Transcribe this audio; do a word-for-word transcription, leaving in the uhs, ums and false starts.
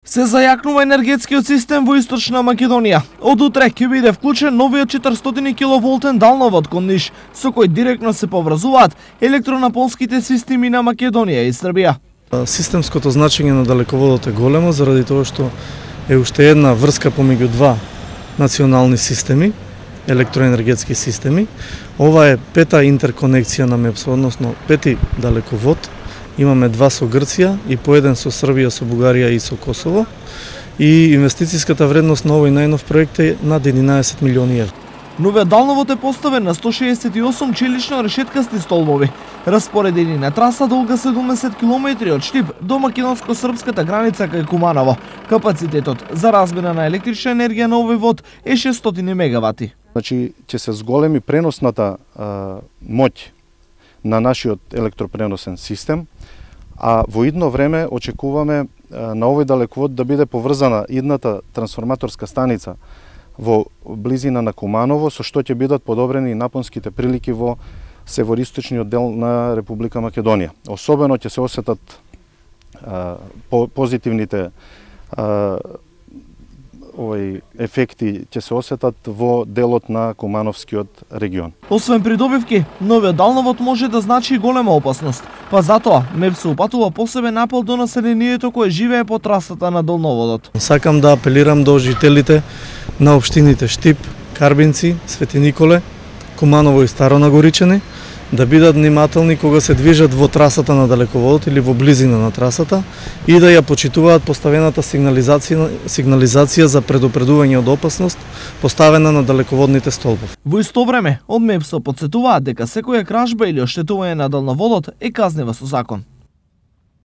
Се зајакнува енергетскиот систем во Источна Македонија. Од утре ќе биде вклучен новиот четиристотини киловолтен далновод кон Ниш, со кој директно се поврзуваат електронапонските системи на Македонија и Србија. Системското значење на далеководот е големо заради тоа што е уште една врска помеѓу два национални системи, електроенергетски системи. Ова е пета интерконекција на МЕПСО, односно пети далековод. Имаме два со Грција и по еден со Србија, со Бугарија и со Косово. И инвестицијската вредност на овој најнов проект е над единаесет милиони евра. Новиот далновод е поставен на сто шеесет и осум челично решеткасти столбови, распоредени на траса долга седумдесет километри од Штип до македонско-српската граница кај Куманово. Капацитетот за размена на електрична енергија на овој вод е шестстотини мегавати. Значи, ќе се зголеми преносната а, моќ на нашиот електропреносен систем, а во идно време очекуваме на овој далековод да биде поврзана идната трансформаторска станица во близина на Куманово, со што ќе бидат подобрени напонските прилики во североисточниот дел на Република Македонија. Особено ќе се осетат а, по, позитивните а, овој ефекти ќе се осетат во делот на Кумановскиот регион. Освен придобивки, новиот далновод може да значи голема опасност, па затоа МЕПСО упатува посебен апел до населението кое живее по трасата на далноводот. Сакам да апелирам до жителите на општините Штип, Карбинци, Свети Николе, Куманово и Старо Нагоричани да бидат внимателни кога се движат во трасата на далеководот или во близина на трасата и да ја почитуваат поставената сигнализација, сигнализација за предупредување од опасност поставена на далеководните столбови. Во исто време, од МЕПСО потсетуваат дека секоја кражба или оштетување на далноводот е казнива со закон.